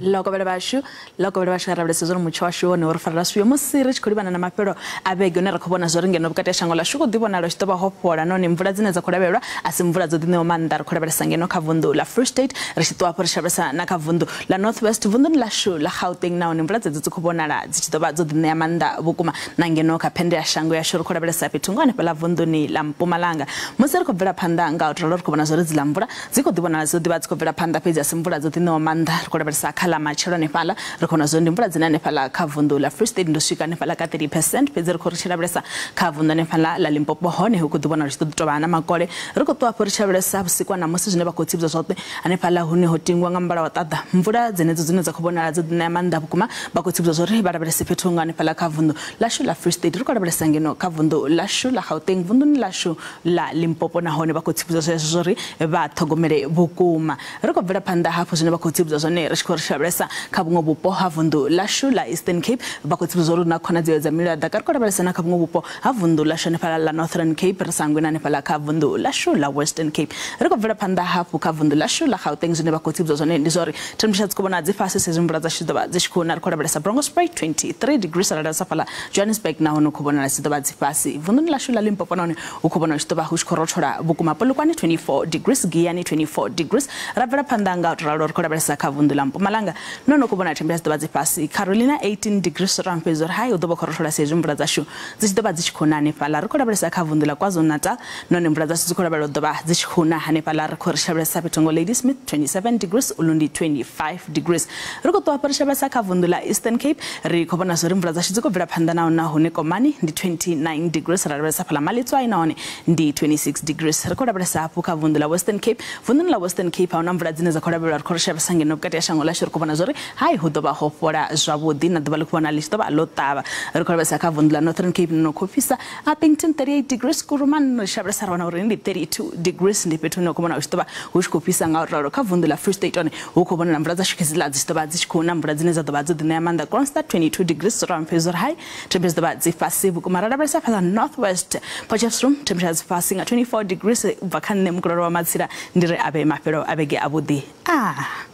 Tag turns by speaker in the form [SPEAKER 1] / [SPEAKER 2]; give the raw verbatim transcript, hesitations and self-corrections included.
[SPEAKER 1] Lokovhele vhashu lokovhele vhashu nga lavhelesa zwori mutsho washu wone uri farela swio musi ri tshi khou livhana na mafhelo a vhege une ra khou vhona zwori ngeno vhukati ha shango ḽashu khou ḓi vhonala tshi ḓo vha ho fhola nahone mvula dzine dza khou lavhelelwa a si mvula dzo ḓiṋewa maanḓa. Ri khou lavhelesa ngeno kha vunḓu ḽa Free State, ri tshi ṱuwa hafho ri tshi lavhelesa na kha vunḓu ḽa North West, vunḓuni ḽashu ḽa Gauteng nahone mvula dzedzo dzi khou vhonala dzi tshi ḓo vha dzo ḓiṋea maanḓa vhukuma. Na ngeno kha phende ya shango yashu ri khou lavhelesa fhethu nga hanefhaḽa vunḓuni ḽa Mpumalanga. Musi ri khou bvela phanḓa nga u ralo ri khou vhona zwori dziḽa mvula dzi khou ḓi vhonala dzo ḓi vha dzi khou bvela phanḓa, fhedzi a si mvula dzo ḓiṋewa maanḓa. Ri khou lavhelesa kha ḽa matshelo hanefhaḽa ri khou vhona zwori ndi mvula dzine hanefhaḽa kha vunḓu ḽa Free State ndo swika hanefhaḽa ka thirty percent, fhedzi ri khou ri tshi lavhelesa kha vunḓu hanefhaḽa ḽa Limpopo hone hu khou ḓi vhonala tshi ḓo tovha na makole. Ri khou ṱuwa hafho ri tshi lavhelesa vhusiku na musi zwine vha khou tsivhudza zwoṱhe hanefhaḽa hune ho tingwa nga muvhala wa ṱaḓa, mvula dzenedzo dzine dza khou vhonala dzo ḓiṋea maanḓa vhukuma. Vha khou tsivhudza zwori vha lavhelese fhethu nga hanefhaḽa kha vunḓu ḽashu ḽa Free State. Ri khou lavhelesa ngeno kha vunḓu ḽashu ḽa Gauteng, vunḓuni ḽashu ḽa Limpopo nahone vha khou tsivhudza zwezwo zwori vha ṱhogomele vhukuma. Ri khou bvela phanḓa hafhu zwine vha khou tsivhudza zwone ri tshi khou ri lavhelesa kha vhuṅwe vhupo ha vunḓu ḽashu ḽa Eastern Cape, vha khou tsivhudza uri na khonadzeo dza mililo ya ḓaka. Ri khou lavhelesa na kha vhuṅwe vhupo ha vunḓu ḽashu hanefhaḽa ḽa Northern Cape, ri sa hangwi na hanefhaḽa kha vunḓu ḽashu ḽa Western Cape. Ri khou bvela phanḓa hafhu kha vunḓu ḽashu ḽa Gauteng, zwine vha khou tsivhudza zwone ndi zwori temperature dzi khou vhona dzi fhasi sezwi mvula dzashu ḓo vha dzi tshi khou na. Ri khou lavhelesa Bronkhorstspruit twenty-three degrees, ra lavhelesa fhaḽa Johannesburg nahone hu khou vhonala dzi ḓo vha dzi fhasi. Vunḓuni ḽashu ḽa Limpopo nahone hu khou vhonala tshi ḓo vha hu tshi khou rothola vhukuma, Polokwane twenty-four degrees, Giyani twenty-four degrees. Ra bvela phanḓa nga u ralo ri khou lavhelesa kha vunḓu ḽa Mpumalanga nahone hu khou vhonala temperature dzi ḓo vha dzi fhasi, Carolina eighteen degrees, ra fhedza uri hai hu ḓo vha khou rothola sezwi mvula dzashu dzi tshi ḓo vha dzi tshi khou na hanefhaḽa. Ri khou lavhelesa kha vunḓu ḽa KwaZulu-Natal nahone mvula dzashu dzi khou lavhelelwa u ḓo vha dzi tshi khou na hanefhaḽa. Ri khou ri lavhelesa fhethu ngo Ladysmith twenty-seven degrees, Ulundi twenty-five degrees. Ri khou ṱuwa hafho ri lavhelesa kha vunḓu ḽa Eastern Cape, ri khou vhona zwori mvula dzashu dzi khou bvela phanḓa na huna hune Komani ndi twenty-nine degrees, ra lavhelesa fhaḽa Maletswai nahone ndi twenty-six degrees. Ri khou lavhelesa hafhu kha vunḓu ḽa Western Cape, vunḓuni ḽa Western Cape ahuna mvula dzine dza khou lavhelelwa. Ri khou ri lavhelesa ngeno vhukati ha shango ḽashu ri khou vhona zwori hai hu ḓo vha ho fhola zwavhuḓi na ḓuvha ḽi khou vhona ḽi tshi ḓo vha ḽo ṱavha. Ri khou lavhelesa kha vunḓu ḽa Northern Cape no khou fhisa, Upington thirty-eight degrees, Kuruman ri lavhelesa ra wana uri ndi thirty-two degrees, ndi fhethu hune khou vhona hu tshi ḓo vha hu tshi khou fhisa nga u ralo. Kha vunḓu ḽa Free State hone hu khou vhonala mvula dzashu khedziḽa dzi tshi ḓo vha dzi tshi khou na mvula dzine dza ḓo vha dzo ḓiṋea maanḓa. Kroonstad twenty-two degrees, ra fhedza uri hai temperature dzi ḓo vha dzi fhasi vhukuma. Ra lavhelesa fhaḽa North West, Potchefstroom temperature dzi fhasi nga twenty-four degrees. U bva kha nṋe Mukulolo wa Matsila ndi ri avhe mafhelo a vhege avhuḓi. Ah.